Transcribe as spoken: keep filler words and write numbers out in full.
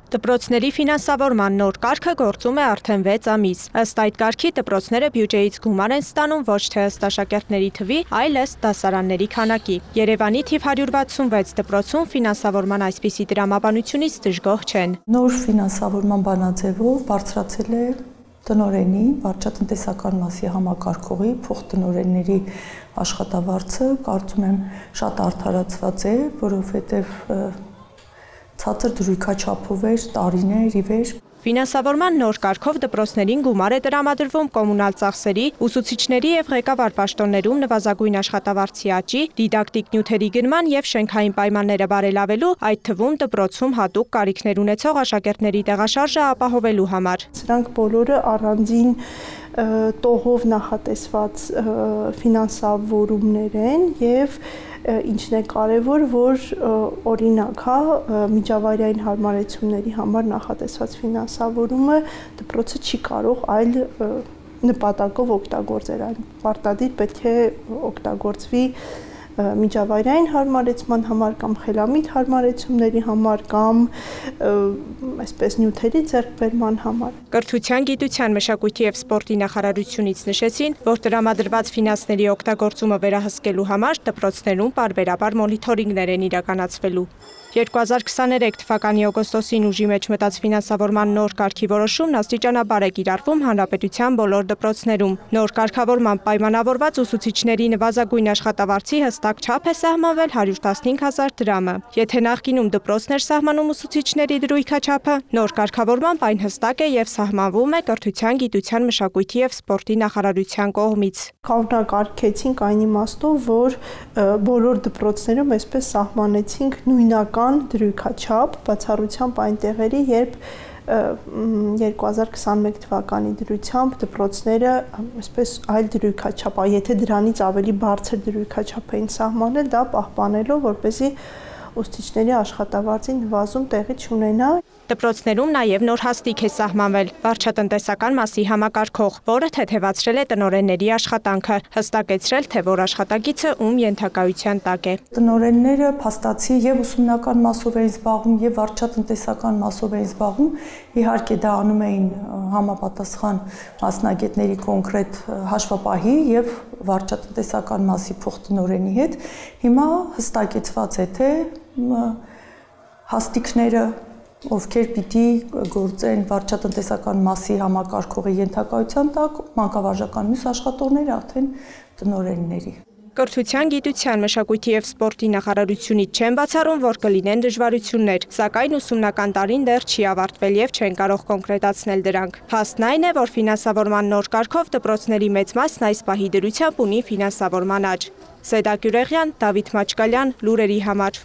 Դպրոցների ֆինանսավորման նոր կարգը գործում է արդեն վեց ամիս։ Ըստ այդ կարգի դպրոցները բյուջեից գումար են ստանում ոչ թե ըստ աշակերտների թվի, այլ ըստ դասարանների քանակի։ Երևանի թիվ հարյուր վաթսունվեց դպրոցում ֆինանսավորման այսպիսի տրամաբանությունից դժգոհ չեն։ Նոր ֆինանսավորման բանաձևով բարձրացել է տնօրենի, վարչատնտեսական մասի համակարգողի, փոխտնօրենների աշխատավարձը, կարծում եմ շատ արդարացված է, որովհետև ցածր դրույքաչափով էր տարիներ ի վեր։ Ֆինանսավորման նոր կարգով դպրոցներին գումար է տրամադրվում կոմունալ ծախսերի, ուսուցիչների և ղեկավար պաշտոններում նվազագույն աշխատավարձի աճի, դիդակտիկ նյութերի գնման և շենքային պայմանները բարելավելու, այդ թվում դպրոցում հատուկ կարիքներ ունեցող աշակերտների տեղաշարժը ապահովելու համար։ Սրանք բոլորը առանձին տողով նախատեսված ֆինանսավորումներ են և ինչն է կարևոր, որ օրինակ, հա, միջավայրային հարմարեցումների համար նախատեսված ֆինանսավորումը դպրոցը չի կարող այլ նպատակով օգտագործել, այն պարտադիր պետք է օգտագործվի միջավայրային հարմարեցման համար կամ խելամիտ հարմարեցումների համար կամ այսպես նյութերի ձեռքբերման համար։ Կրթության, գիտության, մշակույթի և սպորտի նախարարությունից նշեցին, որ տրամադրված ֆինանսների օգտագործումը վերահսկելու համար դպրոցներում պարբերաբար մոնիթորինգներ են իրականացվելու։ երկու հազար քսաներեք թվականի օգոստոսին ուժի մեջ մտած ֆինանսավորման նոր կարգի որոշումն աստիճանաբար է կիրառվում հանրապետության բոլոր դպրոցներում։ Նոր կարգավորմամբ պայմանավորված ուսուցիչների նվազագույն աշխատավարձի հստակ չափ է սահմանվել հարյուր տասնհինգ հազար դրամը։ Եթե նախկինում դպրոցն էր սահմանում ուսուցիչների դրույքաչափը, նոր կարգավորմամբ այն հստակ է և սահմանվում է կրթության, գիտության, մշակույթի և սպորտի նախարարության կողմից։ Կարգեցինք այն իմաստով, որ բոլոր դպրոցներում այսպես սահմանեցինք նույնական դրույքաչափ, բացառությամբ այն տեղերի, երբ երկու հազար քսաներեք թվականի դրությամբ դպրոցները այսպես այլ դրույքաչափ, եթե դրանից ավելի բարձր դրույքաչափ էին սահմանել, դա պահպանելով, որպեսզի ուսուցիչների աշխատավարձի նվազում տեղի չունենա։ Դպրոցներում նաև նոր հաստիք է սահմանվել վարչատնտեսական մասի համակարգող, որը թեթևացրել է տնօրենների աշխատանքը, հստակեցրել, թե որ աշխատագիծը ում ենթակայության տակ է։ Տնօրենները փաստացի եւ ուսումնական մասով էին զբաղվում եւ վարչատնտեսական մասով էին զբաղվում, իհարկե դա անում էին համապատասխան մասնագետների կոնկրետ հաշվապահի եւ վարչատնտեսական մասի փոխտնօրենի հետ։ Հիմա հստակեցված է, թե հաստիկները ովքեր պիտի գործեն վարչատնտեսական մասի համակարգողի ենթակայության տակ, մանկավարժական մյուս աշխատողները արդեն տնօրենների։ Կրթության, գիտության, մշակույթի և սպորտի նախարարությունից չեն բացառում, որ կլինեն դժվարություններ, սակայն ուսումնական տարին դեռ չի ավարտվել և չեն կարող կոնկրետացնել դրանք։ Փաստն այն է, որ ֆինանսավորման նոր կարգով դպրոցների մեծ մասն այս պահի դրությամբ ունի ֆինանսավորման աճ։ Սեդա Գյուրեղյան, Դավիթ Մաչկալյան, լուրերի համար։